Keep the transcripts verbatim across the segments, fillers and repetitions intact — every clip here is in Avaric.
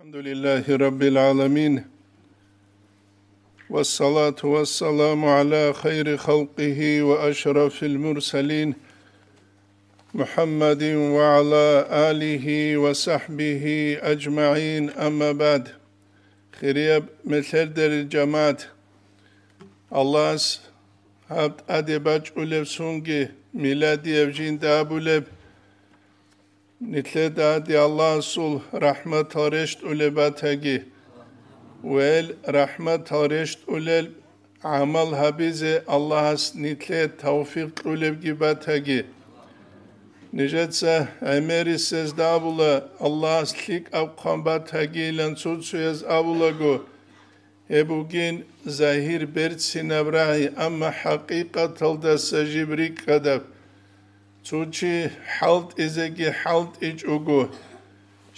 الحمد لله رب العالمين، والصلاة والسلام على خير خلقه وأشرف المرسلين، محمد وعلى آله وصحبه أجمعين، أما بعد. Хирияб мехлъердерил жамагӀат, Аллагьас гьаб тӀаде бачӀулеб сунги миладияб жинда абулеб, нилъеда гьади Аллагьасул рахӀматал рещтӀулеб батаги, ва гьел рахӀматал рещтӀулел гӀамал гьабизе Аллагьас нилъее тавфикъ кьулебги батаги. Нижеца гӀемерисезда абула, Аллагьас лъикӀаб хъван батагийилан цо-цояз абулаго, гьеб бугин загьир берцинаб рагӀи, амма хӀакъикъаталдаса жиб рикӀкӀадаб. Цо чи хӀалтӀизеги хӀалтӀичӀого,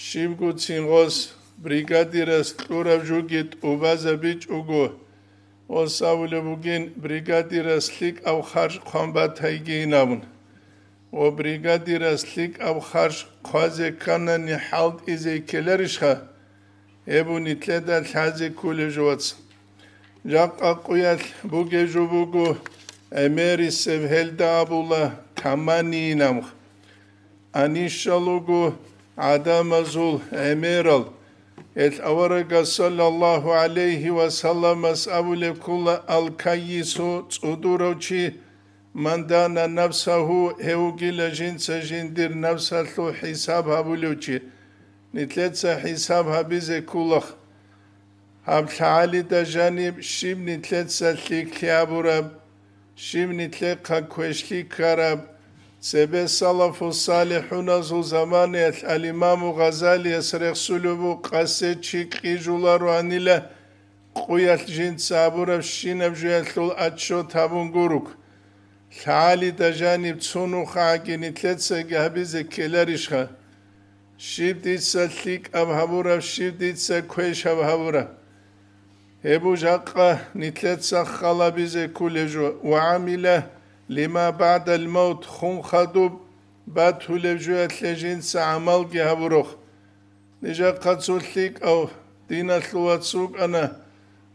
щибгоцин гъос бригадирас кьураб жуги тӀубазабичӀого, гъос абулеб бугин, бригадирас лъикӀаб харж хъван батайгийин абун. Ва бригадирас лъикӀаб харж хъвазе кканани хӀалтӀизе ккеларищха? Гьеб нилъеда лъазе кколеб жо, вац. Жакъа къуялъ бугеб жо буго, гӀемерисеб гьелда абула таманийин абун. Анищал руго гӀадамазул гӀемерал. Гьел аварагас саллаллагьу гӀалайгьи ва салламас абулеб ккола: «Ал-каййису», цӀудурав чи, «ман дана нафсагьу», гьев вугила жинца жиндир нафсалъул хӀисаб гьабулев чи. Нилъеца хӀисаб гьабизе кколаха. Гьаб лъагӀалида жаниб щиб нилъеца лъикӀлъи гьабураб, щиб нилъехъа квешлъи ккараб? Цебе салафу-салихӀуназул заманаялъ ал-Имаму Гъазалияс рехсулеб буго, къасе чи кьижулароанила, къуялъ жинца гьабурабщинаб жоялъул отчет гьабун гурук. ЛъагӀалида жаниб цо нухагӀаги нилъецаги гьабизе ккеларищха? Щиб дица лъикӀаб гьабураб, щиб дица квешаб гьабураб? Гьеб жакъа нилъеца халабизе кколеб жо, ва гӀамила лима баъдал мавт, хун хадуб батулеб жоялъе жинца гӀамалги гьабурох. Нижахъа цо лъикӀав диналъул вац вукӀана,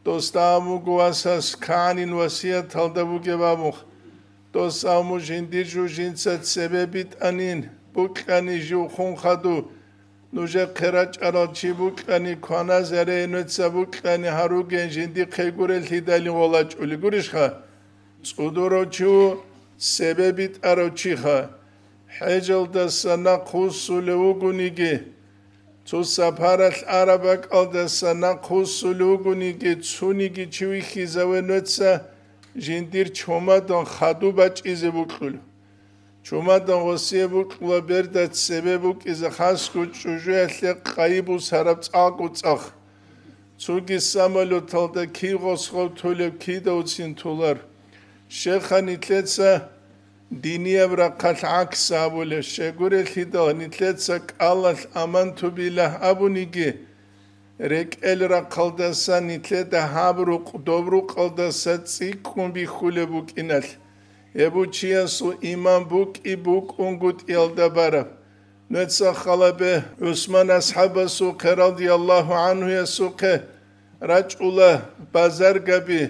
досда абун буго васас кагӀанин васияталда бугеб абун. Дос абун буго, жиндир жо жинца цебе битӀанин, букьани жив хун хадув, нужехъе рачӀарал чи букьани, кваназаре нуца букьани гьаругеян жиндихъе гуреллъидалин гъолачӀулей гурищха? ЦӀудурав чи ву, цебе битӀарав чиха. ХӀежалдаса нахъвуссулев вугониги, цо сапаралъ араб бакӀалдаса нахъвуссулев вугониги, цониги чи вихьизаве нуца жиндир чумадан хадуб бачӀизе букьулев. Чумадан гъосие букьула берда цебе букӀизе хасго чӀужуялъе къайи бусараб цӀакъго цӀакъ. Цоги самолеталда кив гъос гъов толеб, кидавцин толар. Щеха нилъеца динияб рахъалъ гӀакс абулеб, щегурелъидал нилъеца кӀалалъ аманту билагь абуниги, рекӀел рахъалдаса нилъеда гьаб рукъ доб рукъалдаса цӀикӀкӀун бихьулеб букӀиналъ, гьеб чиясул иман букӀи букӀунгутӀиялда бараб. Нуца халабе ГӀусман асхӀабасухъе, радияллагьу гӀанхуясухъе, рачӀула базаргаби,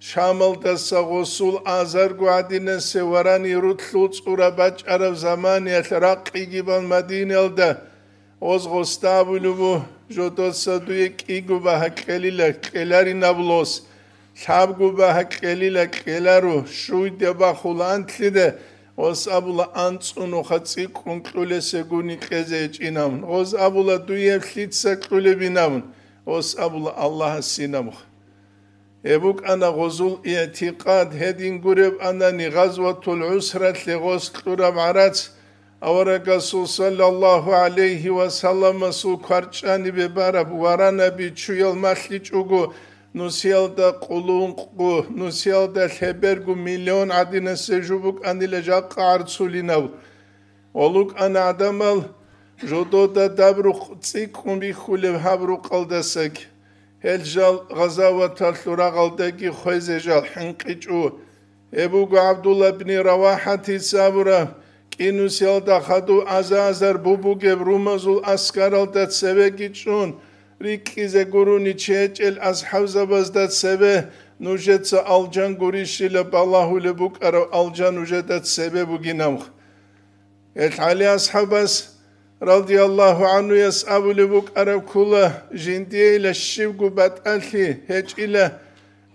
Шамалдаса гъосул азарго гӀадинасе варани рутлъул цӀура бачӀараб заманиялъ ракъиги бан Мадинаялда, гъоз гъосда абулеб буго, жодоца дуе кӀиго багьа кьелила, кьеларин абулос, лъабго багьа кьелила, кьеларо, щуйде бахула анлъиде, гъос абула, анцӀунуха цӀикӀкӀун кьулесегуни кьезе гьечӀинабун, гъоз абула, дуе лъица кьулебинабун, гъос абула, Аллагьасинабуха. Гьеб букӀана гъозул игӀтикъад, гьедин гуреб анани, Гъазватул ГӀусралъе гъос кьураб гӀарац, аварагасул саллаллагьу гӀалайгьи ва салламасул кварчӀанибе бараб варанаби чуял малъичӀого, нусиялда къулункъго, нусиялда лъеберго миллион гӀадинасе жо букӀанила жакъа гӀарцулинав. Гъолукъана гӀадамал жодода даб рукъ цӀикӀкӀун бихьулеб гьаб рукъалдасаги. Гьел жал гъазаваталъул рагъалдаги хвезе жал хӀинкъичӀо. Гьеб буго ГӀабдулла бни РавахӀатица абураб, кӀинусиялда хадув аза-азар бубугеб румазул аскаралда цевеги чӀун, рикӀкӀизе гурони чи гьечӀел асхӀабзабазда цебе нужеца алжан гурищила балагьулеб букӀараб алжан нужеда цебе бугинаб. Гьел ГӀали асхӀабас, радияллагьу гӀанхуяс, абулеб букӀараб ккола, жиндиейила щибго батӀалъи гьечӀила,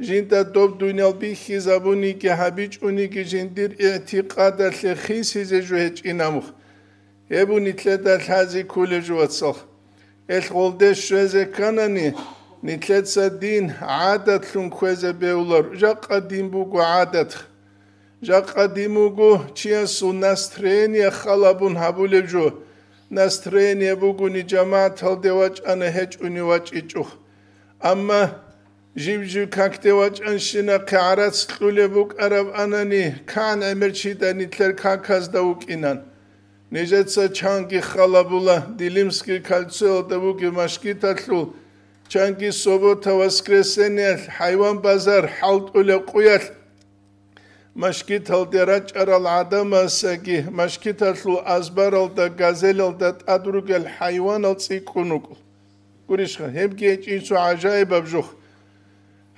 жинда доб дуниял бихьизабуниги гьабичӀониги жиндир игӀтикъадалъе хисизе жо гьечӀинаб. Гьеб нилъеда лъазе кколеб жо, вацал. Гьел гъолде щвезе кканани, нилъеца дин гӀадатлъун кквезе бегьулар. Жакъа дин буго гӀадат. Жакъа дин буго чиясул настроение халабун гьабулеб жо. Настроение бугони жамагӀаталде вачӀана, гьечӀони вачӀичӀо. Амма жив-жив какде вачӀанщинахъе гӀарац кьулеб букӀараб анани, кан гӀемер чида нилъер каказда вукӀинан. Нижеца чанги халабула Дилимский кольцоялда бугеб машгиталъул, чанги суббота-воскресеньялъ хӀайван базар хӀалтӀулеб къуялъ, машгиталде рачӀарал гӀадамасаги, машгиталъул азбаралда, газелалда тӀад ругел хӀайванал цӀикӀкӀун рукӀун. Гурищха, гьебги гьечӀин цо гӀажаибаб жо.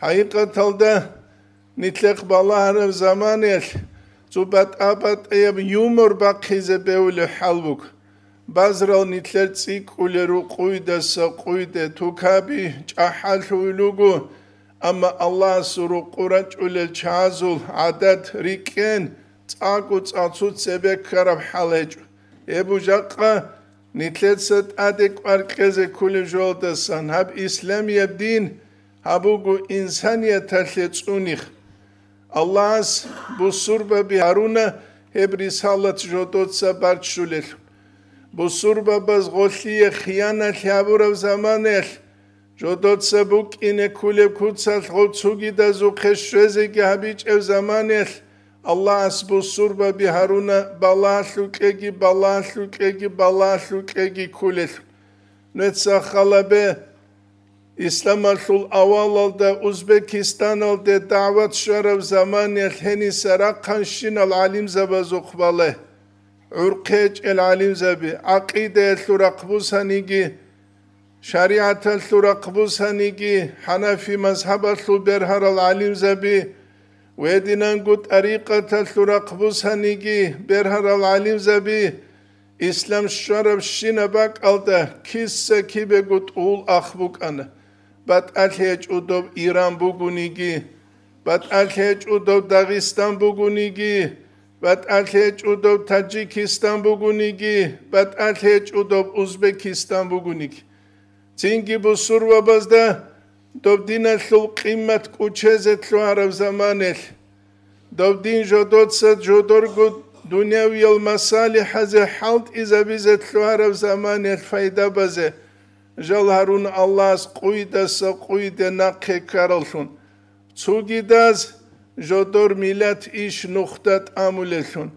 ХӀакъикъаталда, нилъехъ балагьараб заманаялъ цо батӀа-батӀияб юмор бахъизе бегьулеб хӀал буго. Базарал нилъер цӀикӀкӀулел рукъуйдаса къуйде, тукаби чӀахӀаллъуй руго, амма Аллагьасул рукъу рачӀулел чагӀазул гӀадат рикӀкӀен цӀакъго цӀакъ цо цебе ккараб хӀал гьечӀо. Гьеб жакъа нилъеца тӀаде кӀвар кьезе кколеб жоялдасан гьаб исламияб дин гьаб буго инсанияталъе цӀуних. Аллагьас бусурбаби гьаруна гьеб рисалат жодоца барччулелъул. Бусурбабаз гъолъие хияналъ гьабураб заманаялъ, жодоца букӀине ккулеб куцалъ гъов цугидазухъе щвезеги гьабичӀеб заманаялъ, Аллагьас бусурбаби гьаруна, балагьалъул кьеги, балагьалъул кьеги, балагьалъул кьеги ккулелъул. Нуца халабе, исламалъул авалалда Узбекистаналде дагӀват щвараб заманаялъ гьениса рахъанщинал гӀалимзабазухъ бале. ГӀурхъечӀел гӀалимзаби, гӀакъидаялъул рахъ бусаниги, шаригӀаталъул рахъ бусаниги, хӀанафи мазгьабалъул бергьарал гӀалимзаби, гьединанго тӀарикъаталъул рахъ бусаниги бергьарал гӀалимзаби, ислам щварабщинаб бакӀалда киса-кибего тӀул ах букӀана. БатӀалъи гьечӀо доб Иран бугониги, батӀалъи гьечӀо доб Дагъистан бугониги, батӀалъи гьечӀо доб Таджикистан бугониги, батӀалъи гьечӀо доб Узбекистан бугониги. Цинги бусурбабазда доб диналъул къимат кӀучезе лъугьараб заманаялъ, доб дин жодоца жодорго дунявиял масалихӀазе хӀалтӀизабизе лъугьараб заманаялъ пайда базе, жал гьарун Аллагьас къуйдаса къуйде нахъе ккараллъун, цугидаз жодор миллат иш нухда тӀамулеллъун.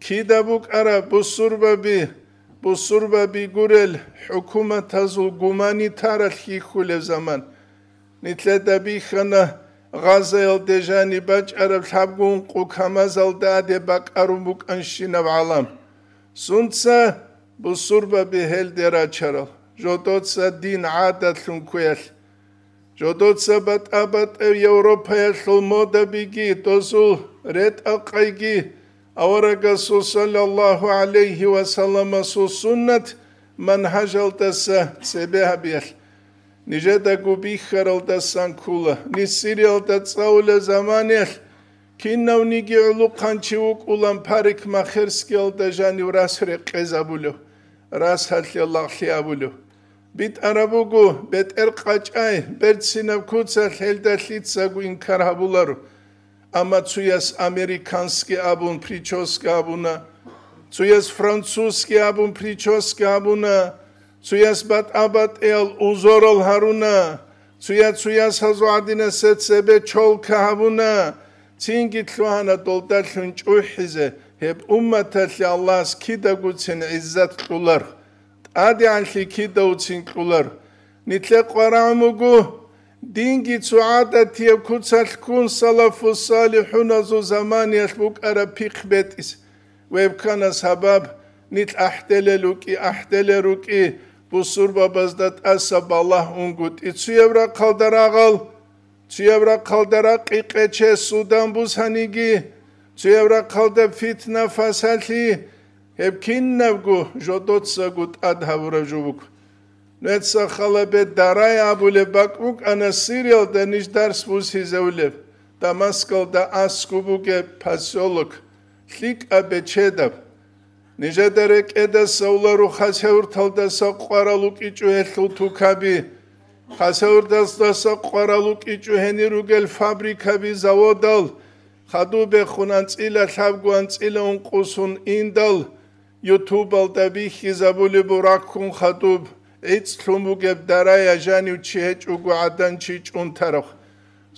Кида букӀараб бусурбаби, бусурбаби гурел хӀукуматазул гуманитаралъ хьихьулеб заман. Нилъеда бихьана Газаялде жаниб бачӀараб лъабгун къу камазалда аде бакӀарун букӀанщинаб гӀалам. Сунца бусурбаби гьелде рачарал, жодоца дин гӀадатлъун кквеялъ. Жодоца батӀа-батӀев Европаялъул модабиги, дозул ретӀа-къайги, аварагасул саллаллагьу гӀалайгьи ва салламасул суннат манхӀажалдаса цебе гьабиялъ. Нижедаго бихьаралдасан ккола, ниж Сириялда цӀалулел заманаялъ, кинавниги гӀулухъанчи вукӀулан парикмахерскиялда жанив рас рекъезабулев, рас гьалъе лагълъи абулев. БитӀараб буго, бетӀер къачӀай, берцинаб куцалъ гьелда лъицаго инкар гьабуларо. Амма цуяс американский абун прическа гьабуна, цуяс французский абун прическа гьабуна, цуяс батӀа-батӀиял узорал гьаруна, цуя-цуяс гьазул гӀадинасда цебе чолка гьабуна, цинги лъугьана долдалъун чӀухӀизе, гьеб умматалъе Аллагьас кидагуцин гӀиззат кьолар. ТӀадегӀанлъи кидавцин кьолар. Нилъер къварагӀун буго, динги цо гӀадатияб куцалъ ккун салафу-салихӀуназул заманиялъ букӀараб пихъ бетӀис. Вебкана сабаб, нилъ ахӀделел рукӀи, ахӀделел рукӀи, бусурбабазда тӀаса балагь унгутӀи цуяб рахъалда рагъал, цуяб рахъалда ракъи къече судан бусаниги, цуяб рахъалда фитна-фасалъи, гьеб кинабго жодоцаго тӀад гьабураб жо буго. Нуца халабе дарай абулеб бакӀ букӀана Сириялда ниж дарс бусизавулеб, Дамаскалда аскӀуб бугеб посёлок, лъикӀаб бечедаб. Нижеда рекӀедаса улару Хасавюрталдаса къварал вукӀичӀо гьелъул тукаби, Хасавюрталдаса къварал вукӀичӀо гьенир ругел фабрикаби, заводал, хадуб бехун анцӀила лъабго анцӀила ункъусун индал, ютубалда бихьизабулеб бураккун хадуб, гӀицӀлъун бугеб дарая жанив чи гьечӀого гӀадан чи чӀунтарав.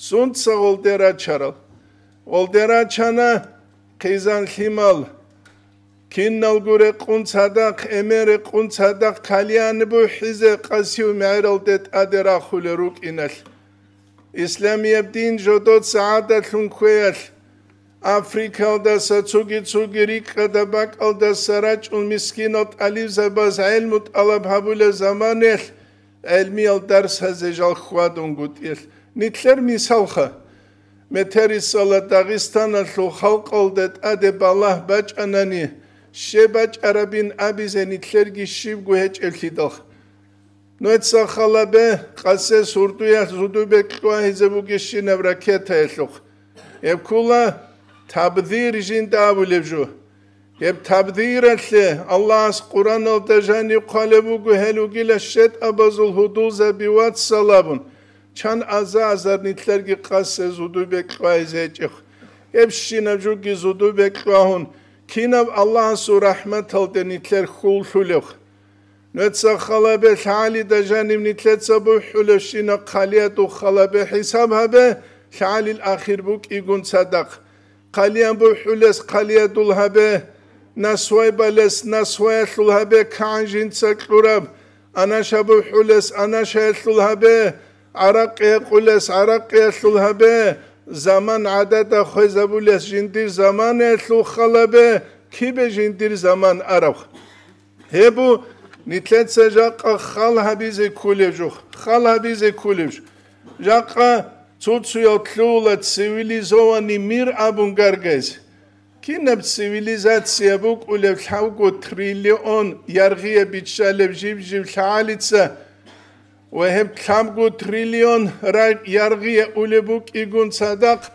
Сунца гъолде рачарал? Гъолде рачана хъизан лъимал, киналго рекъун цадахъ, эмен рекъун цадахъ кальян бухӀизе къасив мегӀералде тӀаде рахулел рукӀиналъ. Исламияб дин жодоца гӀадалъун кквеялъ, Африкалдаса цуги-цуги рикӀкӀада бакӀалдаса рачӀун мискинал тӀалибзабаз гӀелму тӀалаб гьабулеб заманаялъ, гӀелмиял дарсазе жал хьвадунгутӀиялъ. Нилъер мисалха, метерисала Дагъистаналъул халкъалда тӀаде балагь бачӀанани, щиб бачӀарабин абизе нилъерги щибго гьечӀеблъидал. Нуца халабе къасес гьурдуялъ зудубе кьвагьизе бугещинаб ракетаялъухъ. Гьеб ккула табдир жинда абулеб жо. Гьеб табдиралъе Аллагьас Къураналда жаниб хъвалеб буго гьел ругила щетӀабазул гьудулзаби вацал абун, чан аза-азар нилъерги къасес зудубе кьвагьизе гьечӀехъ. Гьебщинаб жуги зудубе кьвагьун, кинаб Аллагьасул рахӀматалде нилъер хьул лъулевх? Нуца халабе лъагӀалида жанив нилъеца бухӀулевщина хъалиядул халабе хӀисаб гьабе, лъагӀалил ахир букӀигун цадахъ. Хъалиян бухӀулес хъалиядул гьабе, насвай балес насваялъул гьабе, кагӀан жинца кьураб, анаша бухӀулес анашаялъул гьабе, гӀаракъи гьекъулес гӀаракъиялъул гьабе, заман гӀадада хвезабулес жиндир заманаялъул халабе, кибе жиндир заман араб. Гьеб бу нилъеца жакъа хал гьабизе кколеб жо, хал гьабизе кколеб жо. Жакъа цо-цоял лъугьула цивилизованный мир абун гаргайзе. Кинаб цивилизация букӀулеб лъабго триллион яргъия биччалеб жиб-жиб лъагӀалица ва гьеб лъабго триллион ра-, яргъия улеб букӀигун цадахъ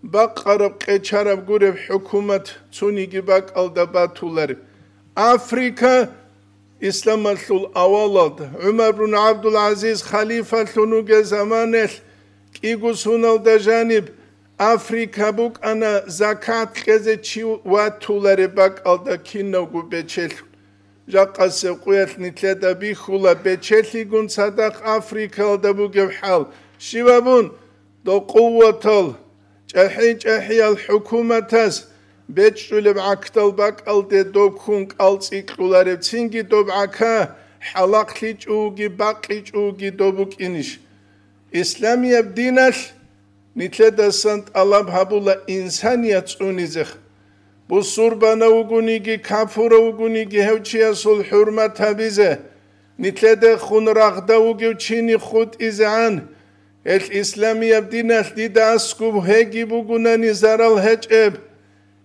бакъараб къечараб гуреб хӀукумат цониги бакӀалда батулареб. Африка исламалъул авалалда, ГӀумар бун ГӀабдул-ГӀазиз халифалъун вугел заманалъ, кӀиго суналда жаниб Африка букӀана закат кьезе чи ватулареб бакӀалда кинавго бечелъун. Жакъасеб къуялъ нилъеда бихьула бечелъигун цадахъ Африкалда бугеб хӀал. Щиб абун? Дов къуватал, чӀахӀи-чӀахӀиял хӀукуматас бечӀчӀулеб гӀакдал бакӀалде дов ккун кӀалцӀи кьуларебцинги доб гӀака хӀалахълъичӀоги бакъичӀоги дов букӀинищ? Исламияб диналъ нилъедасан тӀалаб гьабула инсаният цӀунизех. Бусурбанав вугониги, капурав вугониги гьев чиясул хӀурмат гьабизе, нилъедехун рагъда вугев чини хутӀизегӀан, гьелъ исламияб диналъ дида аскӀуб гьеги бугунани зарал гьечӀеб.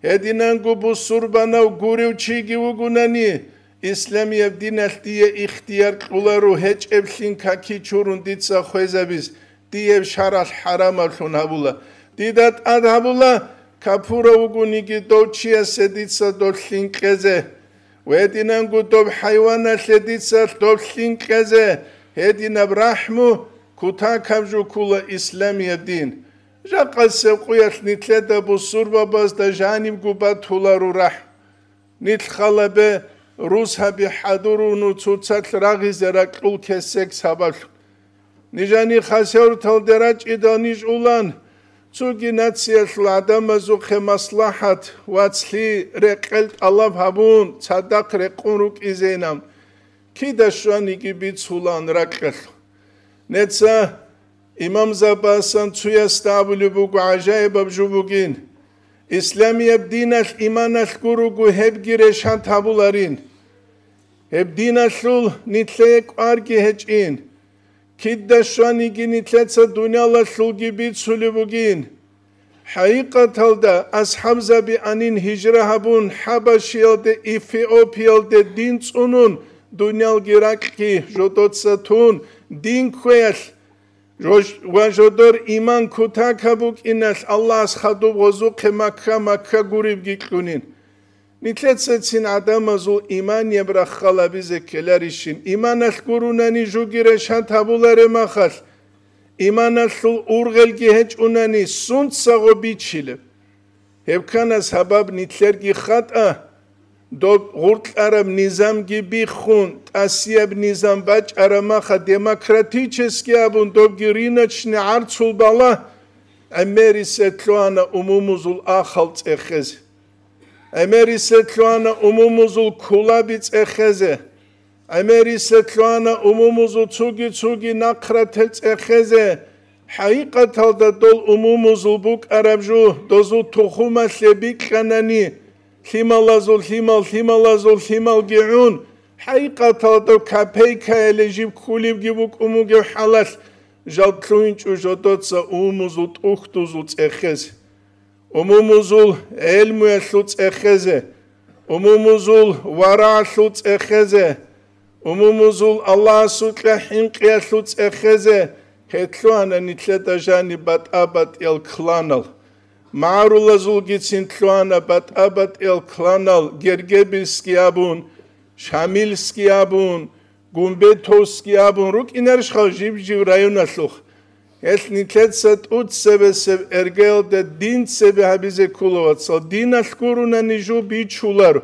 Гьединанго бусурбанав гурев чиги вугунани, исламияб диналъ дие ихтияр кьуларо гьечӀеблъин каки чурун дица хвезабиз, диеб шаралъ хӀарамаблъун гьабула. Дида тӀад гьабула, капурав вугониги дов чиясе дица долъин кьезе. Гьединанго доб хӀайваналъе дица долъин кьезе, гьединаб рахӀму кутакаб жо ккула исламияб дин. Жакъасеб къуялъ нилъеда бусурбабазда жанибго батуларо рахӀ. Нилъ халабе русаби хӀадуруну цоцалъ рагъизе ракьул кесек сабаблъун. Нижани хасавюрталде рачӀидал ниж улан, цоги нациялъул гӀадамазухъе маслахӀат, вацлъи, рекъел тӀалаб гьабун, цадахъ рекъун рукӀизейилан, кида щваниги бицулаан ракьалъ. Неца имамзабасан цуясда абулеб буго гӀажаибаб жо бугин: исламияб диналъ иманалъ гуруго гьебги решат гьабуларин. Гьеб диналъул нилъее кӀварги гьечӀин. Кида щваниги нилъеца дуниялалъулги бицулеб бугин. ХӀакъикъаталда, асхӀабзаби анин гьижра гьабун, ХӀабашиялде, Эфиопиялде дин цӀунун, дуниялги ракьги жодоца тун, дин кквеялъ жо-, ва жодор иман кутакаб букӀиналъ Аллагьас хадуб гъозухъе Макка, Макка гуребги кьунин. Нилъецацин гӀадамазул иманияб раххал абизе ккеларищин, иманалъ гурунани жуги решат гьабуларе махалъ, иманалъул ургъелги гьечӀунани сунцаго бичилеб? Гьеб ккана сабаб нилъерги хатӀа, доб гъуркьараб низамги биххун, тӀасияб низам бачӀараб маха демократический абун, добги рыночный гӀарцул бала, гӀемерисел лъугьана умумузул ахал цӀехезе. ГӀемерисел лъугьана умумузул кулаби цӀехезе. ГӀемерисел лъугьана умумузул цуги-цуги нахърател цӀехезе. ХӀакъикъаталда дол умумузул букӀараб жу, дозул тухумалъе бикьанани, лъималазул лъимал, лъималазул лъималги гӀун, хӀакъикъаталда копейкаяле жиб ккулебги букӀун бугеб хӀалалъ, жал лъугьинчӀо жодоца умумузул тӀухьдузул цӀехезе. Умумузул гӀелмуялъул цӀехезе, умумузул варагӀалъул цӀехезе, умумузул Аллагьасукьа хӀинкъиялъул цӀехезе, гьелъугьана нилъеда жаниб батӀа-батӀиял кланал. МагӀарулазулгицин лъугьана батӀа-батӀиял кланал, Гергебильский абун, Шамильский абун, Гумбетовский абун рукӀинарищха жиб-жиб районалъухъ? Гьелъ нилъеца тӀуцебесеб эргаялда дин цебе гьабизе ккола, вацал. Диналъ гурунани жу бичуларо.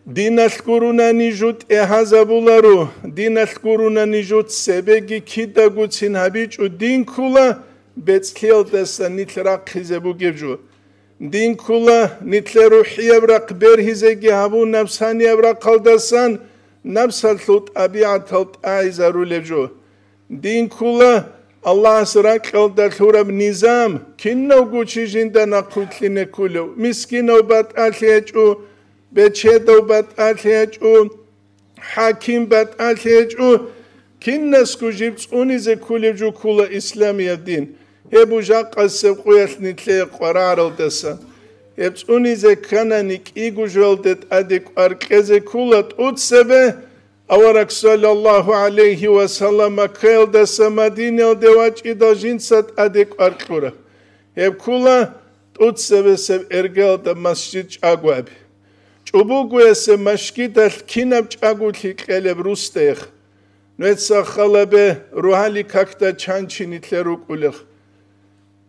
Диналъ гурунани жу тӀегьазабуларо. Диналъ гурунани жу цебеги кидагуцин гьабичӀо дин ккола, бецӀлъиялдаса нилъ рахъизе бугеб жо. Дин ккола, нилъер рухӀияб рахъ бергьизеги гьабун, напсанияб рахъалдасан напсалъул тӀабигӀатал тӀагӀизарулеб жо. Дин ккола, Аллагьас ракьалда лъураб низам, кинавго чи жинда нахъвилълъине кколев, мискинав батӀалъи гьечӀо, бечедав батӀалъи гьечӀо, хӀаким батӀалъи гьечӀо, кинасго жиб цӀунизе кколеб жо ккола исламияб дин. Гьеб бу жакъасеб къуялъ нилъее къварагӀаралдасан. Гьеб цӀунизе кканани кӀиго жоялде тӀаде кӀвар кьезе ккола тӀуцебе, авараг саллаллагьу гӀалайгьи ва саллам Маккаялдаса Мадинаялде вачӀидал жинца тӀаде кӀвар кьураб. Гьеб ккола тӀуцебесеб эргалда масжид чӀаго аби. ЧӀубугоясе машгидалъ кинаб чӀаголъи кьелеб русдех. Нуеца халабе ругьали какда чанчи нилъер рукӀулех.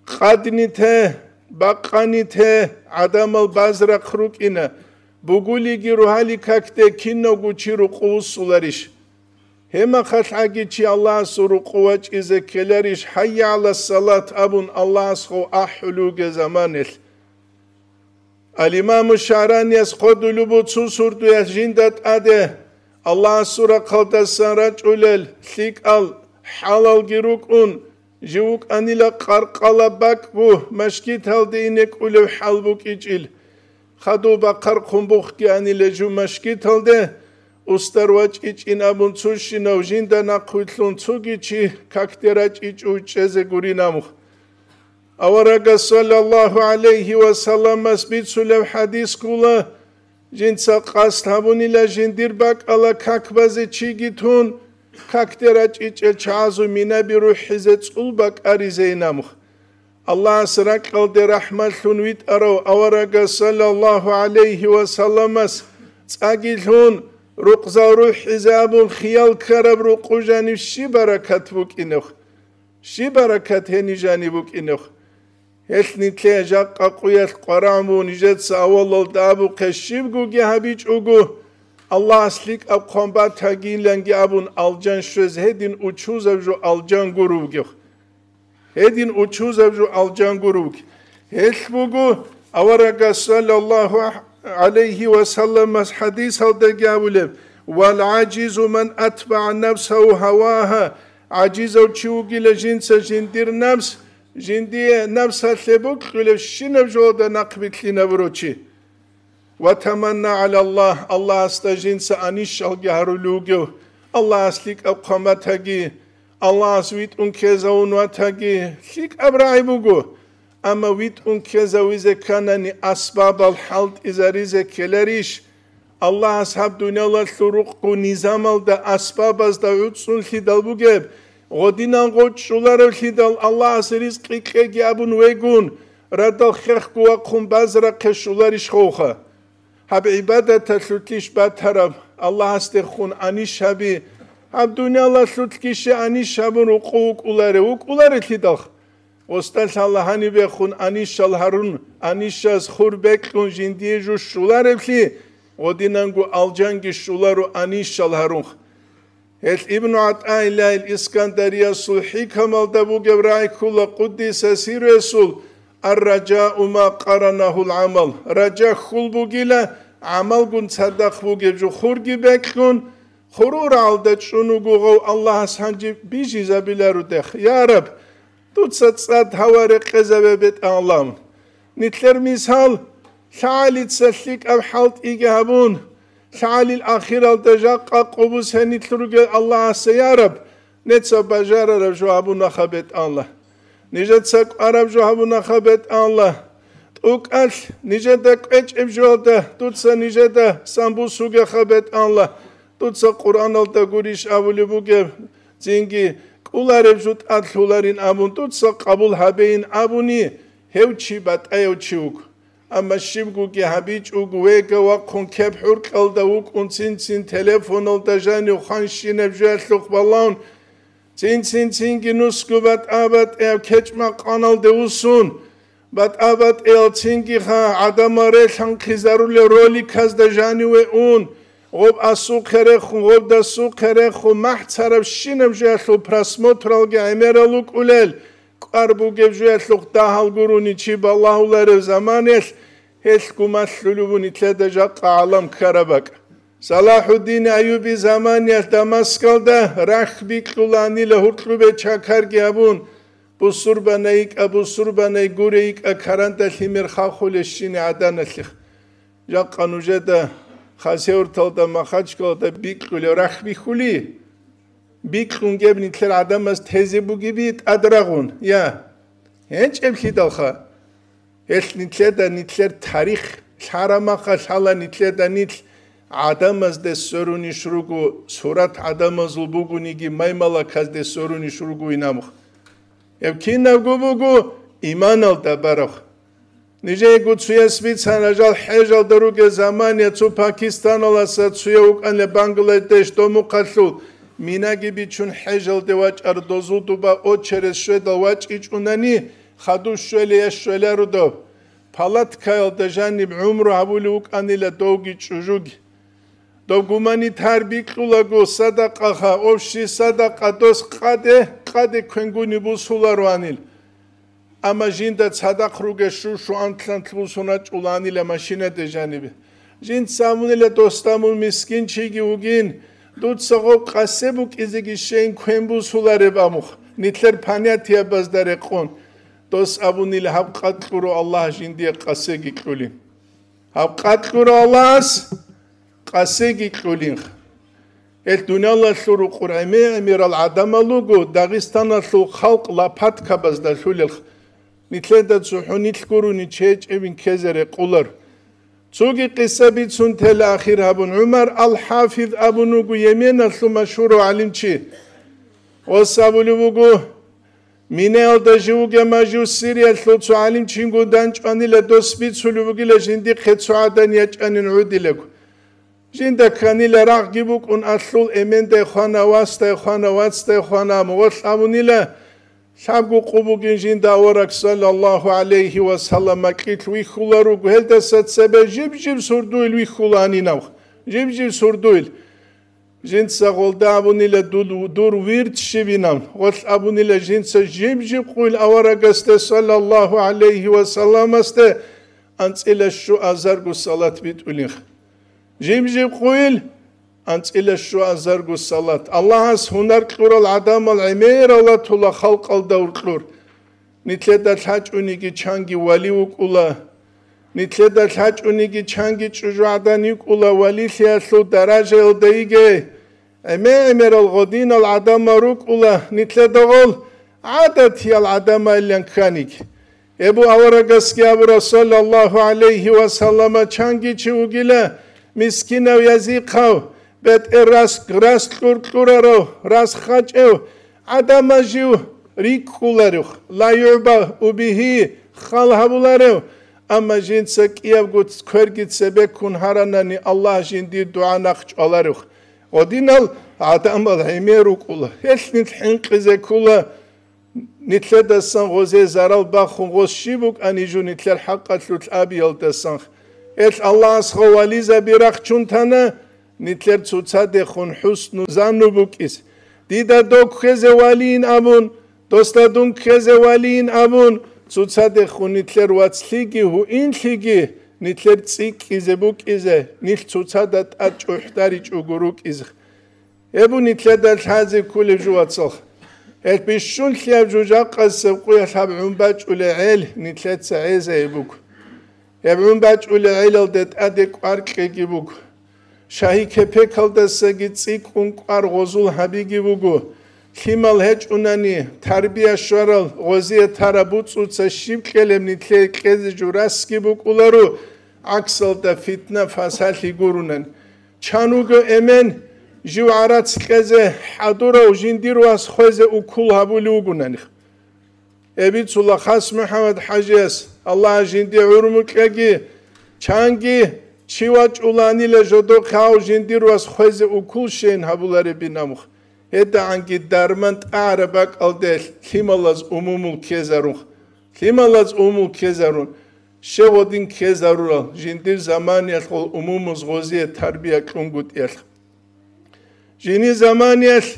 Къадни те, бакъани те, гӀадамал базрахъ рукӀина, бугулиги ругьали какде кинавго чи рукъу вуссуларищ? Гьемахалъ гӀаги чи Аллагьасул рукъу вачӀизе ккеларищ, «ХӀайя гӀала салат» абун Аллагьас гъов ахӀулев вугеб заманалъ? Ал-Имаму ШагӀранияс хъодулеб буго цо сордоялъ жинда тӀаде Аллагьасул рахъалдасан рачӀулел лъикӀал хӀалалги рукӀун, жив вукӀанила къаркъала бакӀ бу, машгиталде ине кӀулев хӀал букӀичӀил. Хадуб бахъархъун бухги анила жив машгиталде, устар вачӀичӀин абун цущинав жинда нахъвилълъун цоги чи какде рачӀичӀо чӀезе гурин амухъ. Аварагас саллаллагьу гӀалайгьи ва салламас бицулеб хӀадис ккола, жинца къасд гьабунила жиндир бакӀала как базе чиги тун, какде рачӀичӀел чагӀазул минаби рухӀизе цӀул бакӀаризейин амухъ. Аллагьас ракьалде рахӀматлъун витӀарав аварагас саллаллагьу гӀалайгьи ва салламас цӀаги лъун, рукъзал рухӀизе абун хиял ккараб рукъу жанив щиб баракат букӀинев? Щиб баракат гьениб жаниб букӀинев? Гьелъ нилъее жакъа къуялъ къварагӀун буго нижеца авалалда абухъе щибгоги гьабичӀого, Аллагьас лъикӀаб хъван батагиланги абун алжан щвез гьедин учузаб жо алжан гуро вугев. Гьедин учузаб жо алжан гуро вугев. Гьелъ буго аварагас саллаллагьу гӀалайгьи ва салламас хӀадисалдаги абулеб: «Вал гӀажизу ман атбагӀа нафсагьу гьавагьа», гӀажизав чи вугила жинца жиндир напс, жиндие напсалъе бокьулебщинаб жоялда нахъбилълъинабурав чи. Ва таманна гӀала Аллагь, Аллагьасда жинца анищалги гьарулев вугев, Аллагьас лъикӀаб хъван батаги, Аллагьас витӀун ккезавун ватаги, лъикӀаб рагӀи буго. Амма витӀун ккезавизе кканани, асбабал хӀалтӀизаризе ккеларищ? Аллагьас гьаб дуниялалъул рукъгу низамалда, асбабазда гӀуцӀцӀунлъидал бугеб, гъодинан гъочӀуларавлъидал Аллагьас ризкъи кьеги абун вегун, радал хехго вахъун базарахъе щуларищ ховха? Гьаб гӀибадаталъулъищ батараб, Аллагьасдехун анищ гьаби, гьаб дуниялалъулъгищи анищ гьабун рукъу вукӀуларев, вукӀуларелъидалха? Гъосда лъала гьанибехун анищал гьарун, анищас хур бекьун жиндие жу щулареблъи, гъодинанго алжанги щуларо анищал гьарунха. Гьел Ибну ГӀатӀаиллагьил Искандариясул хӀикамалда бугеб рагӀи ккола къуддиса сирругьу: «Ар-ражау ма къаранагьул гӀамал». Ража хьул бугила гӀамалгун цадахъ бугеб жо хурги бекьун, хурурагӀалда чӀун вуго гъов Аллагьас гьанже бижизабиларудехъ. Я Раб, дуца цӀад гьава рекъезабе, бетӀан Аллагьун. Нилъер мисал, лъагӀалица лъикӀаб хӀалтӀиги гьабун, лъагӀалил ахиралда жакъа къубус гьенилъ ругел Аллагьасе, я Раб, неца бажарараб жо гьабунаха, бетӀан Аллагь. Нижеца кӀвараб жо гьабунаха, бетӀан Аллагь. ТӀукӀалъ нижеда кӀвечӀеб жоялда дуца нижеда самбусугеха, бетӀан Аллагь. Дуца Къуръаналда гурищ абулеб бугеб, цинги кӀулареб жо тӀадлъуларин абун, дуца къабул гьабейин абуни, гьев чи батӀаяв чи вуго. Амма щибгоги гьабичӀого, вега вахъун кеп хӀуркьалда вукӀун, цин-цин телефоналда жанив ханщинаб жоялъухъ балагьун, цин-цин-цинги нусго батӀа-батӀияб кечӀ-макъаналде вуссун, батӀа-батӀиял цинги ха гӀадамал релъанхъизарулел роликазда жаниве ун, гъоб асухъе рехун, гъоб дасухъе рехун, махӀ царабщинаб жоялъул просмотралги гӀемерал вукӀулел, кӀвар бугеб жоялъухъ дагьал гурони чи балагьуларев заманаялъ, гьелъ гумалъулев вун нилъеда жакъа гӀалам ккараб бакӀ. Салахуддин Аюби заманиялъ Дамаскалда рахь бикьуланила гьуркьубе чакарги гьабун, бусурбанай йикӀа, бусурбанай гуре йикӀа, каранда лъимер хахулещине гӀаданалъих. Жакъа нужеда Хасавюрталда, Махачкалада бикьулев рахь бихьули, бикьун геб нилъер гӀадамаз тезе бугеби тӀадрагъун, я? ГьечӀеблъидалха. Гьелъ нилъеда нилъер тарих лъарамаха лъала нилъеда нилъ гӀадамазде сверунищ руго, сурат гӀадамазул бугониги маймалаказде сверунищ руго инамух. Гьеб кинабго буго иманалда бараб. Нижеего цуяс бицана, жал хӀежалда ругел заман, я цо пакистаналаса, цуя вукӀана Бангладеш домухъалъул, минаги бичун хӀежалде вачӀар дозул дуба очерес щведал вачӀичӀунани, хадуб щвелей я щвеларудав. Палаткаялда жаниб гӀумру гьабулев вукӀанила довги чӀужуги. Дов гуманитар бикьулаго садакъаха, общий садакъа дос къаде, къаде квенгуни бусуларуанил. Амма жинда цадахъ ругел щу-щуан лъантлъ бусун рачӀуланила машинаде жанибе. Жинца абунила, досда мун мискинчиги вугин, дуца гъоб къасе букӀизеги щейин квен бусулареб амухъ, нилъер понятиябазда рекъон. Дос абунила, гьаб къад кьуро Аллагь жиндие къасеги кьулин. Гьаб къад кьуро Аллагьас къасеги кьулинха. Гьел дуниялалъул рукъур гӀемер-гӀемерал гӀадамал руго Дагъистаналъул халкъ лопаткабазда лъулелха. Нилъеда цохӀо нилъ гурони чечӀебин ккезе рекъолар. Цоги къиса бицун тела ахир гьабун, ГӀумар ал-ХӀафиз абун вуго Йеменалъул машгьурав гӀалимчи. Гъос абулев вуго, Минаялда живго мажу Сириялъул цо гӀалимчинго данчӀванила, дос бицулев вугила жиндихъе цо гӀадан ячӀанин гӀодилаго. Жинда кканила рагъги букӀун, алъул эмендай хвана, васдай хвана, вацдай хвана, мугъалъ абунила, лъабго къо бугин жинда авараг, саллаллагьу гӀалайгьи ва саллам, макьилъ вихьула руго, гьелдаса цебе жиб-жиб сурдуил вихьуланинав, жиб-жиб сурдуил. Жинца гъолда абунила дур, дур вирд щибинан, гъолъ абунила жинца жиб-жиб къуйл аварагасде, саллаллагьу гӀалайгьи ва салламасде, анцӀила щуазарго салат битӀулин. Жиб-жиб къуйл, анцӀила щуазарго салат. Аллагьас гьунар кьурал гӀадамал гӀемерал ратула халкъалда уркьур. Нилъеда лъачӀуниги чанги вали вукӀула. Нилъеда лъачӀониги чанги чӀужугӀадан йикӀула валилъиялъул даражаялда йигей. ГӀемер-гӀемерал гъодинал гӀадамал рукӀула нилъеда гъол гӀадатиял гӀадамалилан кканиги. Эбу аварагасги абура, саллаллагьу гӀалайгьи ва саллама, чанги чи вугила мискинав, язихъав, бетӀер рас-, рас кьур-кьурарав, рас хачӀев, гӀадамаз жив рикӀкӀуларев, ла югӀба убигьи, хал гьабуларев, амма жинца кӀиябго кверги цебеккун гьаранани, Аллагь жиндир дугӀа нахъ чӀваларев. Гъодинал гӀадамал гӀемер рукӀула, гьелъ нилъ хӀинкъизе ккула, нилъедасан гъозе зарал бахун гъос щиб букӀани жо нилъер хӀакъалъулъ абиялдасан. Гьелъ Аллагьас гъов вализаби рахчун тана, нилъер цоцадехун хӀусну занну букӀиз. Дида дов кквезе валийин абун, досда дун кквезе валийин абун, цоцадехун нилъер вацлъиги гьуинлъиги нилъер цӀикӀкӀизе букӀизе, нилъ цоцада тӀад чӀухӀдаричӀого рукӀизе. Гьеб нилъеда лъазе кколеб жо, вацал. Гьеб бищунлъияб жо жакъасеб къуялъ гьаб гӀун бачӀулей гӀел нилъеца гӀезайи буго. Гьеб гӀун бачӀулей гӀелалде тӀаде кӀвар кьеги буго. Шагьи кепекалдасаги цӀикӀкӀун кӀвар гъозул гьабиги буго. Лъимал гьечӀунани, тарбия щварал, гъозие тараб буцӀуца щиб кьелеб нилъее кьезе жо расги букӀуларо, гӀаксалда фитна-фасалъи гурунани. Чан вуго эмен, жив гӀарац кьезе хӀадурав жиндир вас хвезе укул гьабулев вугонаних. Эбицула хас МухӀаммад ХӀажияс, Аллагь жинди гӀурму кьеги, чанги чи вачӀуланила жодохъав жиндир вас хвезе укул щейин гьабуларебин амух. ГьедагӀанги дарман тӀагӀараб бакӀалде лъималаз умумул ккезарун. Лъималаз умумул ккезарун. Щев гъодин ккезарурал, жиндир заманиялъ гъол умумуз гъозие тарбия кьунгутӀиялъ. Жини заманиялъ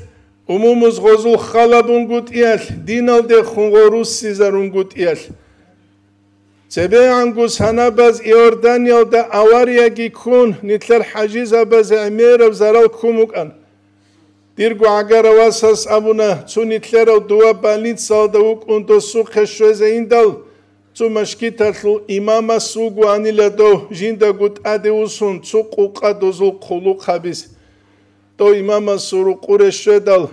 умумуз гъозул халабунгутӀиялъ, диналдехун гъо руссизарунгутӀиялъ. ЦебегӀанго санабаз Иорданиялда аварияги ккун, нилъер хӀажизабазе гӀемераб зарал ккун букӀан. Дирго гӀагара васас абуна, цо нилъерав дова больницалда вукӀун досухъе щвезейиндал, цо машгиталъул имамас вугоанила дов жиндаго тӀаде усун цо къукъа дозул хъулухъ гьабиз. Дов имамасул рукъуре щведал,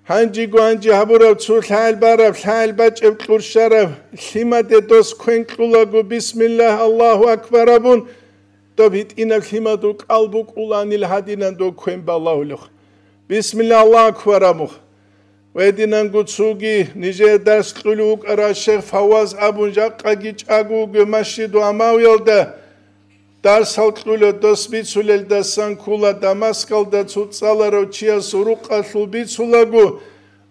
гьанжего гьанже гьабураб цо лъагӀел бараб, лъагӀел бачӀеб кьурщараб лъимаде дос квен кьулаго, бисмиллагь, Аллагьу акбар абун, доб гьитӀинаб лъимадул кӀал букӀуланил гьадинан дов квен балагьулев. Бисмилла, Аллагьу акбар абух. Гьединанго цоги нижее дарс кьулев вукӀарав шейх Фавваз абун жакъаги чӀаго вуго Масжиду Амавиялда. Дарсал кьула дос бицулелдасан ккула Дамаскалда цо цӀаларав чиясул рукъалъул бицулаго,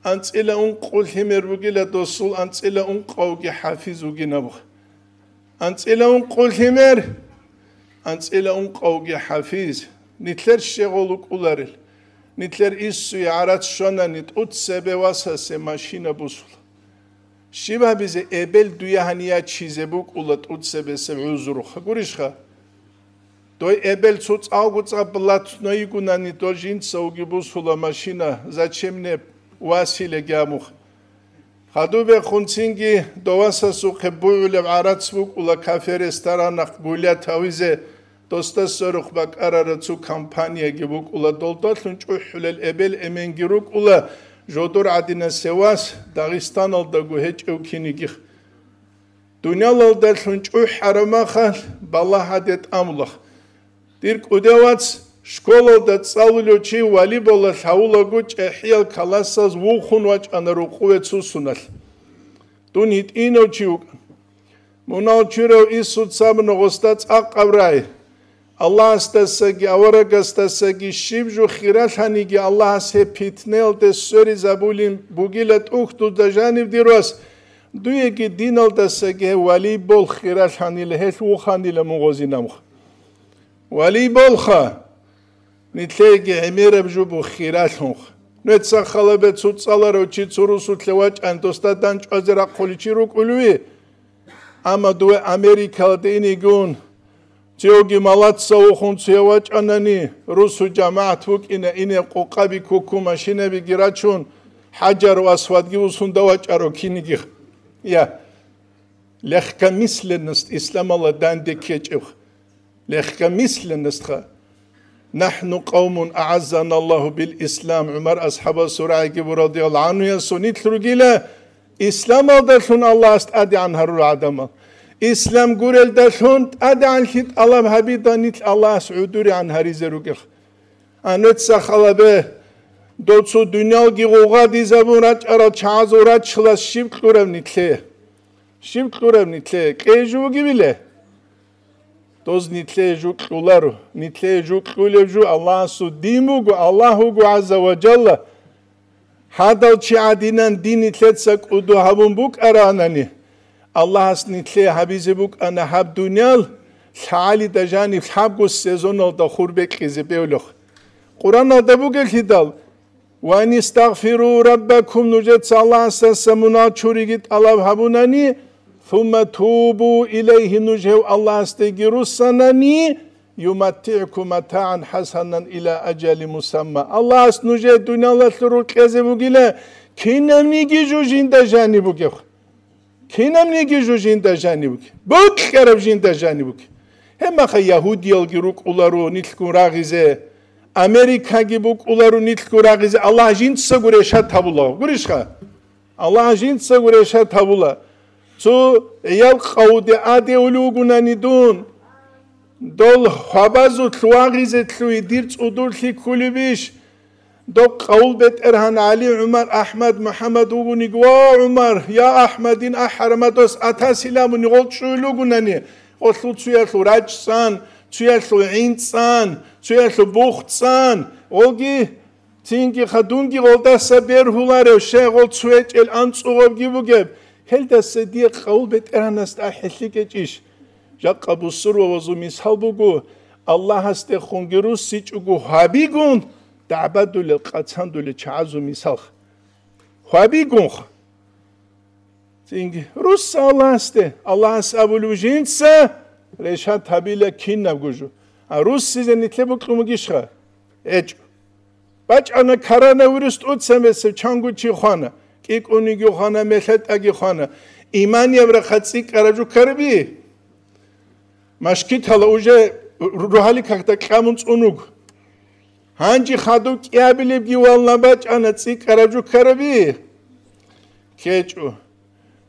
анцӀила ункъо лъимер бугила досул анцӀила ункъавги хӀафиз вугин абух. АнцӀила ункъо лъимер, анцӀила ункъавги хӀафиз, нилъер щегъол вукӀуларел, нилъер иссуе гӀарац щванани тӀуцебе васасе машина бусула. Щиб гьабизе, эбел дуе гьанияе чизе букӀула тӀуцебесеб гӀузрухъ, гурищха? Дой эбел цо цӀалго цӀа блатно йигунани, дол жинцавги бусула машина, зачем мне Василеги абуха. Хадубехун цинги довасасухъе бугӀулеб гӀарац букӀула кафе-ресторанахъ гулят гьавизе, досда сверухъ бакӀарара цо компанияги букӀула, долдалъун чӀухӀулел эбел-эменги рукӀула, жодор гӀадинасев вас Дагъистаналдаго гьечӀев кинигих. Дуниялалдалъун чӀухӀ гьарамахалъ балагь гьаде тӀамулах. Дир кӀудияв вац, школалда цӀалулев чи волейболалъ гьавулаго чӀехӀиял каласаз вухун вачӀана рукъуве цусуналъ. Дун гьитӀинав чи вукӀан. Мунал чурав Исуца абуна гъосда цӀакъаб рай. Аллагьасдасаги аварагасдасаги щиб жо хиралъаниги Аллагьас гьеб питнаялде сверизабулин бугила тӀухьдузда жанив, дир вас, дуеги диналдасаги гьев волейбол хиралъанила, гьелъ вуханила мун гъозинамха. Волейболха! Нилъееги гӀемераб жо буго хиралъунха. Нугьеца халабе цо цӀаларав чи цо русулъе вачӀан, досда данчӀвазе рахъулев чи рукӀулев? Амма дуве Америкалде инегун, цоги малаца вухун цоя вачӀанани, русу жамагӀат вукӀина, ине къукъаби ккукку машинабиги рачун, ХӀажару Асвадги усунда вачӀаро кинигих. Я. Легкомысленность исламалда данде ккечӀеб. Легкомысленностьха. «Нахну къавмун агӀаззана Аллагьу бил ислам», ГӀумар асхӀабасул рагӀиги бурадияллагьу гӀанхуясул нилъ ругила, исламалдалъун Аллагьас тӀадегӀан гьарурал гӀадамал. Ислам гурелдалъун тӀадегӀанлъи тӀалаб гьабида нилъ Аллагьас гӀодорегӀан гьаризе ругел. Анеца халабе, доцо дуниялги гъугъадизабун рачӀарал чагӀазул раччалас щиб кьураб нилъе? Щиб кьураб нилъе? Кьей жугьуги биле? Доз нилъее жу кьуларо. Нилъее жу кьулеб жу Аллагьасул дин буго, Аллагь вуго гӀазза ва жалла. Гьадал чи гӀадинан дин нилъеца кӀуду гьабун букӀаранани, Аллагьас нилъее гьабизе букӀана гьаб дуниял лъагӀалида жаниб лъабго сезоналда хур бекьизе бевлъухъ. Къураналда бугелъидал: «Ва ан истагъфиру раббакум», нужеца Аллагьасдаса мунагь чуриги тӀалаб гьабунани, «сумма тубу илайгьи», нуж гьев Аллагьасдеги руссанани, «юматтигӀкум матагӀан хӀасанан иля ажали мусамма». Аллагьас нужее дуниялалъул рукъезе бугила, кинабниги жу жинда жаниб бугеб. Кинабниги жу жинда жаниб бугеб. БукӀараб жинда жаниб бугеб. Гьебмаха ягьудиялги рукӀуларо нилъгун рагъизе, Америкаги букӀуларо нилъгун рагъизе, Аллагь жинцаго решат гьабула. Гурищха? Аллагь жинцаго решат гьабула. Цо гӀиял къавде адеулев вугунани дун, дол хвабазулъ вагъизе лъугьи дир цӀудурлъи кколебищ? Доб къавул бетӀергьан ГӀали, ГӀумар, АхӀмад, МухӀаммад вугониги: «Ва, ГӀумар, я АхӀмадин ахӀарамадос атасилан», абуни гъол чӀугӀил вугунани, гъолъул цуялъул рачӀ цӀан, цуялъул гӀин цӀан, цуялъул бух цӀан, гъолги Цинги хадунги гъолдаса бергьуларев, щай гъол цугьечӀел анцӀгъобги бугеб, гьелдаса дие къавул бетӀергьанасда ахӀи лъикӀечӀищ? Жакъа бусурбабазул мисал буго, Аллагьасдехунги руссичӀого гьабигун дагӀбадулел, къацандулел чагӀазул мисал. Гьабигунха. Цинги, русса Аллагьасде, Аллагьас абулев жинца решат гьабила кинабго жо. А руссизе нилъе бокьун бугищха? ГьечӀо. БачӀана коронавирус тӀоцебесеб, чанго чи хвана, кӀикӀуниги хвана, мелъетӀаги хвана. Иманияб рахъа цӀикӀкӀараб жо ккараби? Машкитала уже рогьалил какда кьамун цӀун вуго. Гьанже хадуб кӀиабилебги вална бачӀана цӀикӀкӀараб жо ккараби? КкечӀо.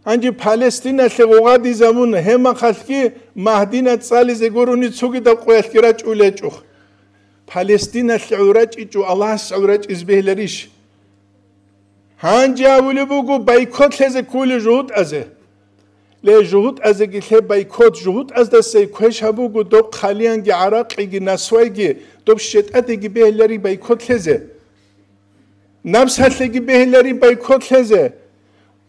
Гьанже Палестиналъе гъугъадизабуна, гьебмахалъги Магьдина цӀализе гурони цогидаб къоялъги рачӀулечӀо. Палестиналъе гӀурачӀичӀо, Аллагьас гӀурачӀизе бегьиларищ? Гьанже абулеб буго, бойкот лъезе кколел жугьутӀазе. Ле, жугьутӀазеги лъе бойкот, жугьутӀаздасай квеш гьабуго доб хъалиянги гӀаракъиги насвайги, доб щетӀадеги бегьлари бойкот лъезе. Напсалъеги бегьлари бойкот лъезе.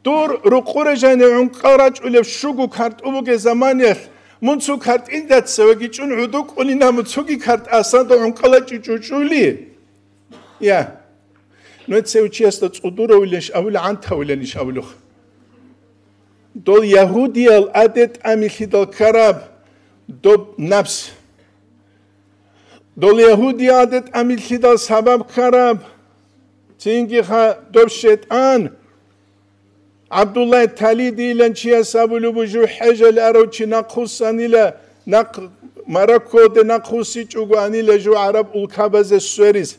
Дур рукъуре жани гӀункъа рачӀулеб щуго картӀу бугеб заманиялъ, мун цо картӀиндаца вагичӀун гӀуду кӀунина, мун цоги картӀ асанда гӀункъала чӀучӀучӀули. Я. Нуца цев чиясда цӀудуравиланищ абула, гӀантавиланищ абулухъ. Дол ягьудиял адетамилъидал ккараб доб напс. Дол ягьудиял адетамилъидал сабаб ккараб цинги ха доб шайтӀан. ГӀабдуллагь Талидийилан чияс абулеб буго, жу хӀежалъ арав чи нахъвуссанила, нахъ Мароккоде нахъвуссичӀого анила жу гӀараб улкабазе свериз.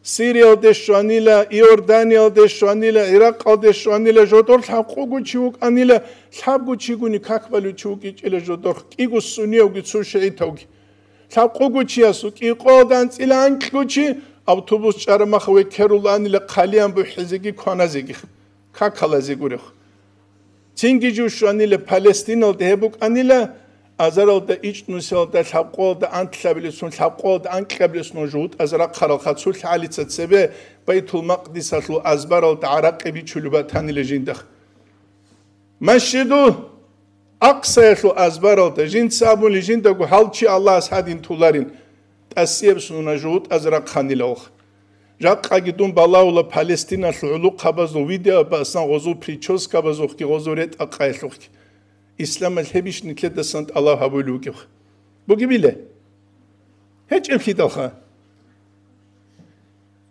Сириялде щванила, Иорданиялде щванила, Иракъалде щванила, жодор лъабкъого чи вукӀанила, лъабго чигуни как балев чи вукӀичӀила жодор, кӀиго сунниявги цо шигӀитавги. Лъабкъого чиясул кӀикъоялда анцӀила анкьго чи автобус чӀарамаха векеруланила, хъалиян бухӀизеги кваназеги. Какалазе гурехъ. Цинги жив щванила Палестиналда гьеб букӀанила, азаралда ичӀнусиялда лъабкъоялда антлъабилесун, лъабкъоялда анкьабилесун жугьутӀаз рахъарал хацулъ гӀалица цебе Байтул-Макъдисалъул азбаралда гӀаракъи бичулеб батанила жинда. Масжиду Акъсаялъул азбаралда жинца абуни жиндаго гьал чи Аллагьас гьадин туларин, тӀасияб суна жугьутӀаз рахъанилавха. Жакъаги дун балагьула Палестиналъул гӀулухъабазул видео басан гъозул прическабазухъги гъозул ретӀа-къаялъухъги. Исламалъ гьебищ нилъедасан тӀалаб гьабулев вугев? Бугебила? ГьечӀеблъидалха.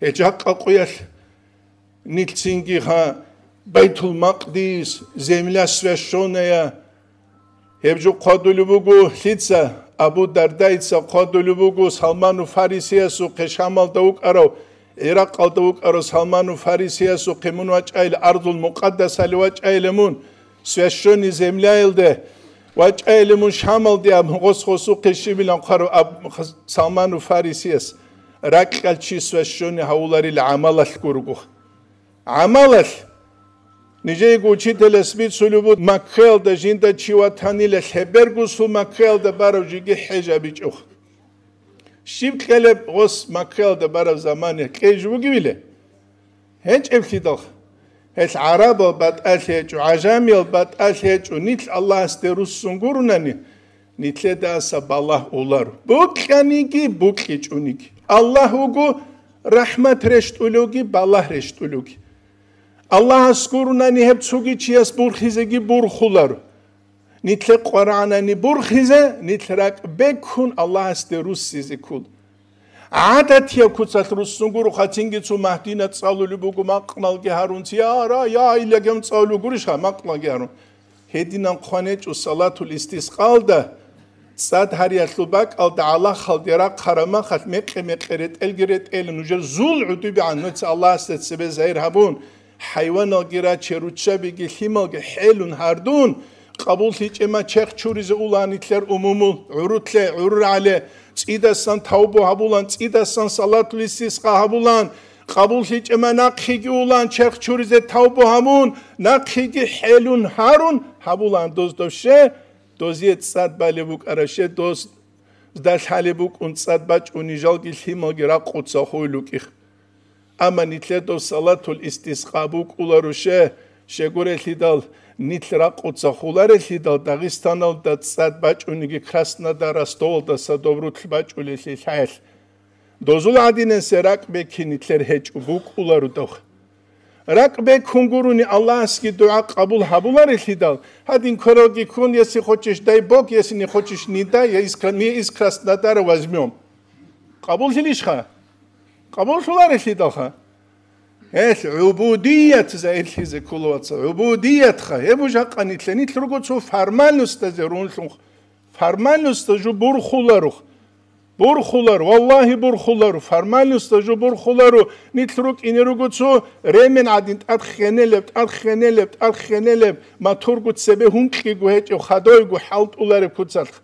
Гьел жакъа къуялъ нилъ цинги ха Байтул-Макъдис, земля свящённая, Гьеб жо хъвадулеб буго лъица? Абу Дардаица хъвадулеб буго Салману Фарисиясухъе, Шамалда вукӀарав, Иракъалда вукӀарав Салману Фарисиясухъе мун вачӀайилан, Арзул Мукъаддасалде вачӀайилан мун, священный земляялде вачӀайилан мун Шамалде, аб-, гъос-гъосухъе щибилан хъварав аб-, Салману Фарисияс, ракьалъ чи священный гьавуларил гӀамалалъ гурого. ГӀамалалъ. Нижеего учителяс бицулеб буго, Маккаялда жинда чи ватанила, лъебергусул Маккаялда барав жиги хӀеж абичӀухъ. Щиб кьелеб гъос Маккаялда бараб замане, кьей жо бугевила? ГьечӀеблъидал. Гьел гӀарабал батӀалъи гьечӀо, гӀажамиял батӀалъи гьечӀо, нилъ Аллагьасде руссун гурунани, нилъедаса балагь уларо. Букьаниги, букьичӀониги. Аллагь вуго рахӀмат рещтӀулевги, балагь рещтӀулевги. Аллагьас гурунани гьеб цоги чияс бурхизеги бурхуларо. Нилъе къварагӀанани бурхизе, нилъ ракӀ беккун Аллагьасде руссизе ккола. ГӀадатияб куцалъ руссун гуро, хацинги цо Магьдина цӀалулеб буго, макъналги гьарун, я ра, я илагьун цӀалулеб гурищха, макъналги гьарун. Гьединан хъван гьечӀо салатул истискъалда, цӀад гьариялъул бакӀалда гӀалахалде рахъараб махалъ мекъи-мекъи ретӀелги ретӀела, нужер зул гӀодобегӀан нуца Аллагьасда цебе загьир гьабун, хӀайваналги раче, руччабиги лъималги хӀелун гьардун, къабуллъичӀей ма черх чуризе улан нилъер умумул, гӀурулъе, гӀурул рагӀале, цӀидасан тавбу гьабулан, цӀидасан салатул истискъа гьабулан, къабуллъичӀей ма нахъеги улан черх чуризе тавбу гьабун, нахъеги хӀелун гьарун гьабулан доз довше, дозие цӀад балеб букӀараб ше, доз далъ гьалеб букӀун цӀад бачӀуни жалги лъималги ракъуца хуйлукӀих. Амма нилъер дов салатул истискъа букӀуларо ше, щегурелъидал, нилъ ракъуца хуларелъидал, Дагъистаналда цӀад бачӀуниги Краснодар, Ростовалдаса дов рулъ бачӀулелъи лъаялъ. Дозул гӀадинансе ракӀ бекин нилъер гьечӀо, букӀуларо дов. РакӀ бекун гурони Аллагьасги дугӀа къабул гьабуларелъидал, гьадин квералги ккун, если хочешь, дай Бог, если не хочешь, не дай, я из Кра-, мы из Краснодара возьмём. Къабуллъилищха? Къабуллъуларелъидалха. Гьелъ гӀубудият загьирлъизе ккола, вацал, гӀубудиятха. Гьеб жакъа нилъ, нилъ руго цо формальностазе рунлъун. Формальностаз жо бурхуларо. Бурхуларо, валлагьи, бурхуларо. Формальностаз жо бурхуларо. Нилъ рукӀине руго цо ремен гӀадин тӀад хенелеб, тӀад хенелеб, тӀад хенелеб, моторго цебе гьункьиго гьечӀеб, хадойго хӀалтӀулареб куцалъ.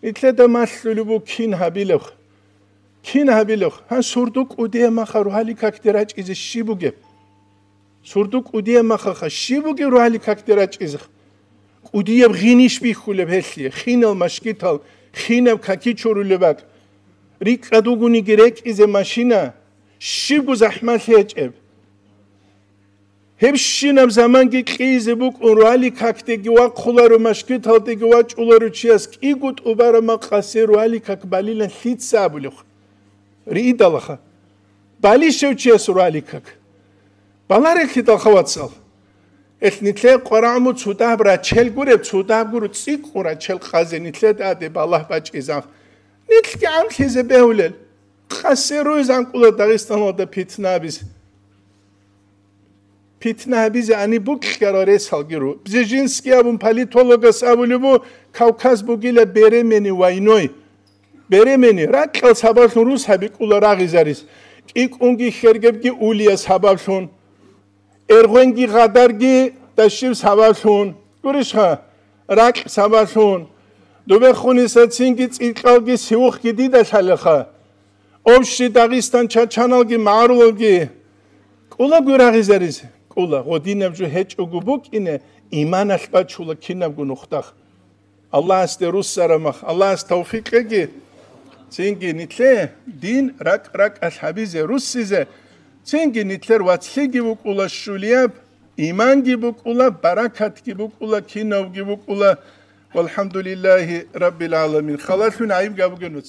Нилъеда малъулеб буго кин гьабилеб. Кин гьабилеб? Гьан, сурду кӀудияб маха рогьалил какде рачӀизе щиб бугеб? Сурду кӀудияб махаха щиб бугеб рогьалил какде рачӀизе? КӀудияб гъинищ бихьулеб гьелъие, хинал машгитал, хинаб каки чурулеб бакӀ. РикӀкӀад вугониги рекӀизе машина, щибго захӀмалъи гьечӀеб. Гьебщинаб заманги кьизе букӀун, рогьалил какдеги вахъуларо, машгиталдеги вачӀуларо чияс, кӀиго тӀубараб макъасе рогьалил как балилан лъица абулеб? Риидалаха. Балищев чияс рогьалил как? Баларелъидалха, вацал. Гьелъ нилъее къварагӀму цо дагьаб рачел гуреб, цо дагьаб гуро цӀикӀкӀун рачел къазе нилъеда тӀаде балагь бачӀизаб. Нилъги гӀамлъизе бегьулел. Къасе руйз анкӀула Дагъистаналда питна абизе. Питна гьабизе ани букьарал ресалги ру. Бзежинский абун политологас абулеб бу, Кавказ бугила беремени войной. Беремени, ракьал сабаблъун рус гьабикӀула рагъизарис. КӀикӀунги хергебги улияс сабаблъун. Эргъвенги гъадарги дашив сабаблъун. Гурищха, ракь сабаблъун. Дубехунисацинги цӀикӀкӀалги сивухъги дида лъалеха. Общий Дагъистан чачаналги магӀарулалги кӀулаго рагъизаризе кӀула, гъодинаб жо гьечӀого букӀине, иманалъ бачула кинабго нухда. Аллагьасде руссарамах, Аллагьас тавфикъ кьеги, цинги нилъе дин ракӀ-ракӀалъ гьабизе, руссизе, цинги нилъер вацлъиги букӀула щулияб, иманги букӀула, баракатги букӀула, кинавги букӀула. Валхамдулиллагьи раббил гӀаламин. Халалъун гӀайиб габуге нуц.